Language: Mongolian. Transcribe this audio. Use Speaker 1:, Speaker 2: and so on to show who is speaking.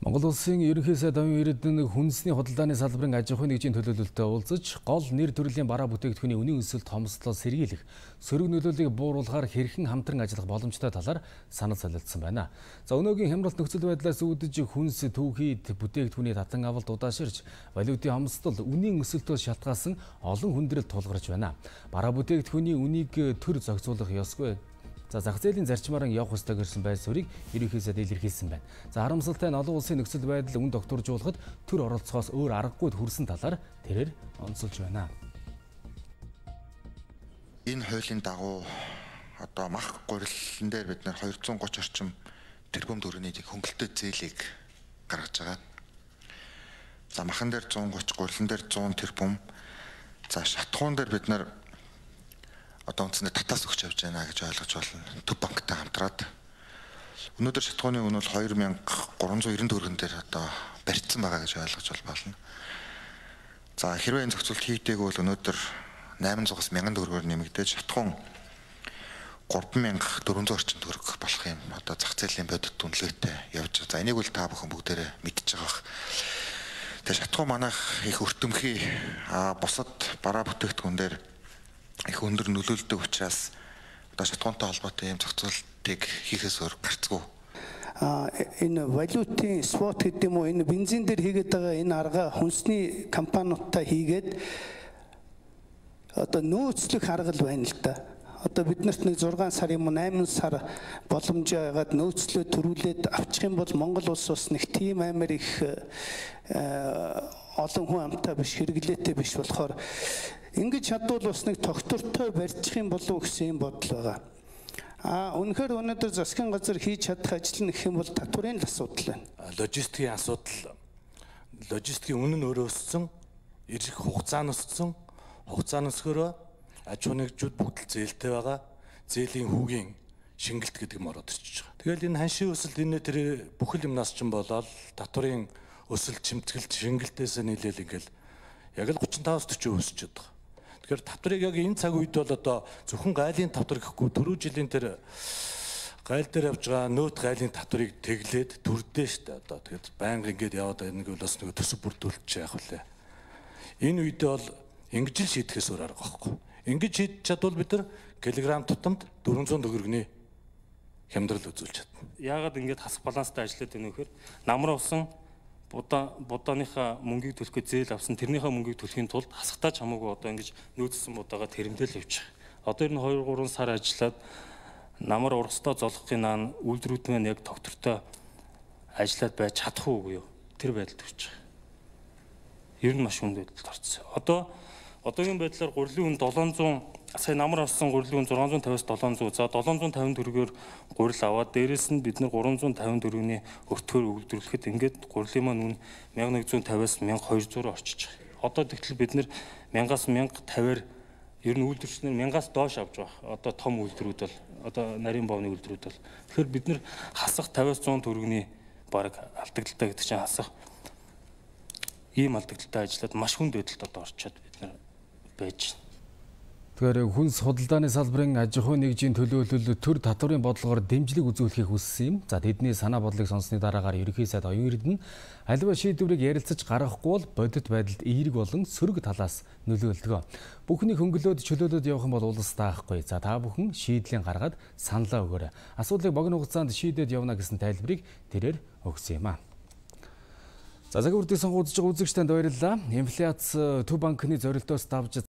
Speaker 1: Монгол улсын ерөнхий сайд оюун эрдэнэ хүнсний худалдааны салбарын аж ахуйн нэгжийн төлөөлөлтөд уулзаж, гол нэр төрлийн бараа бүтээгдэхүүний үнийн өсөлт томслоо сэргийлэх, сөрөг нөлөөллийг бууруулахаар хэрхэн хамтран ажиллах боломжтой талаар санал солилцсон байна. За өнөөгийн хямралт нөхцөл байдлаас үүдэж хүнс түүхийд бүтээгдэхүүний татан авалт удааширч, валютын хомсдол үнийн өсөлтөөс шалтгаалсан олон хүндрэл тулгарч байна. Бараа бүтээгдэхүүний үнийг төр зохицуулах ёсгүй. За зах зээлийн зарчмаар явах ёстой гэсэн байр суурийг ерөнхий сайд илэрхийлсэн байна. За харамсалтай нь олон улсын нөхцөл байдал үн докторжуулахад төр оролцохоос өөр аргагүй хүрсэн талаар тэрээр онцолж байна.
Speaker 2: Энэ хуулийн дагуу одоо мах гурилан дээр бид нэр 230 орчим тэрбум төгрөгийн хөнгөлөлтөд зээлийг гаргаж байгаа. За махан дээр 130, гурилан дээр 100 тэрбум. За шатхуун дээр бид нэр одоо үнэндээ татаас өгч явж байна гэж ойлгож байна. Төв банктай хамтраад өнөөдөр шатхууны үн бол 2390 төгрөгөн дээр одоо барьцсан байгаа гэж ойлгож байна. За хэрвээ энэ зохицуулт хийгдээгүй бол өнөөдөр 800-аас 1000 төгрөгөөр нэмэгдэж шатхуун 3400 орчим төгрөг болох юм. Одоо зах зээлийн бодит үнэлгээтэй явж байгаа. За энийг бол та бүхэн бүгдээрээ мэдчихэж байгаа. Тэгээ шатхуун манайх их өртөмхий бусад бараа бүтээгдэхүүн дээр их өндөр нөлөөлдөг учраас одоо шатхуунтай холбоотой юм зохицуултыг хийхээс өөр гарцгүй.
Speaker 3: Энэ валютын спот гэдэг юм уу, энэ бензин дээр хийгээд байгаа энэ арга хүнсний компаниудтай хийгээд одоо нөөцлөх арга л байна л да. Одоо биднэрт нэг 6 сар юм уу 8 сар боломж байгаад нөөцлөө төрүүлээд авчих юм бол Монгол улс бас нэг тийм амар их олон хүн амтай биш, хэрэглээтэй биш болохоор ингэж чадвал бас нэг тогтвортой барьчих юм болов уу гэсэн юм бодол байгаа. Үнэхээр өнөөдөр засгийн газар хийж чадах ажил нь гэх юм бол татварын асуудал байна.
Speaker 4: Логистикийн асуудал, логистикийн үнэ нь өөрөө өссөн, ирэх хугацаа нь өссөн, хугацаа нь өсгөрөө аж ахуйн нэгжүүд бүгд л зээлтэй байгаа. Зээлийн хүүгийн шингэлт гэдэг юм ороод ирчихэж байгаа. Тэгэл энэ ханшийн өсөлт энэ тэр бүхэл юмнаас ч болоод татварын өсөлт чимтгэлт шингэлтээс нийлээл ингээл яг л 35-40% өсөж байгаа. Тэгэхээр татварыг яг энэ цаг үед бол одоо зөвхөн гайлын татвар гэхгүй түрүү жилийн тэр гайл дээр явж байгаа нөт гайлын татварыг тэглээд төрдөө штэ одоо тэгээд байнга ингээд яваад байгаа нэг бол бас нэг төсөв бүрдүүлчих яах вүлээ. Энэ үедээ бол ингэж л шийдэхээс өөр арга байхгүй. Ингэж шийдэж чадвал бид нар килограмм тутамд 400 төгрөгийн хямдрал үзүүлж чадна.
Speaker 5: Яагаад ингэж хасах баланстай ажиллаад байна вэ гэхээр намар усан будааныхаа мөнгийг төлөхөд зээл авсан тэрнийхээ мөнгийг төлөхийн тулд хасахтаа ч хамаагүй одоо ингэж нөөцсөн будаагаа тэрэмдэл явчих. Одоо энэ 2-3 сар ажиллаад намар ургастаа золгохын наан үйлдвэрүүд маань яг тогтвортой ажиллаад байж чадах уугүй юу? Тэр байдалд хүрч байгаа. Ер нь маш хүнд байдалд орсон. Одоогийн байдлаар гурилын үн 700 сая намар авсан гурилын үн 650-аас 700. За 750 төгрөгөөр гурил аваад дээрэс нь бид нар 350 төгрөгийн өртгөөр үйлдвэрлэхэд ингээд гурилын маань үн 1150-аас 1200 орчиж байгаа. Одоо тэгтэл бид нар 1000-аас 1050-аар ер нь үйлдвэрчнэр 1000-аас доош авч байгаа. Одоо том үйлдвэрүүд бол одоо нарийн боовны үйлдвэрүүд бол тэгэхээр бид нар хасах 50-аас 100 төгрөгийн баг алдагдaltaа гэдэг чинь хасах ийм алдагдaltaа ажиллаад маш хүнд байдалд одоо орчоод бид нар байж байна.
Speaker 1: Тэгэхээр хүнс худалдааны салбарын аж ахуйн нэгжийн төлөөлөл төр татварын бодлогоор дэмжлэг үзүүлэхийг хүссэн юм. За тэдний санаа бодлыг сонссны дараагаар ерөнхий сайд оюун эрдэнэ аливаа шийдвэрийг ярилцаж гаргахгүй бол бодит байдалд эерэг болон сөрөг талаас нөлөөлдөг. Бүхний хөнгөлөөд чөлөөлөд явах юм бол улс таахгүй. За та бүхэн шийдлийн гаргаад саналаа өгөөрэй. Асуудлыг богино хугацаанд шийдээд явна гэсэн тайлбарыг тэрээр өгсөн юм а. За цагаан үрдийн сонгуульд үзэж байгаа үзэгчдэнд баярлалаа. Инфляц төв банкны зорилтоос давж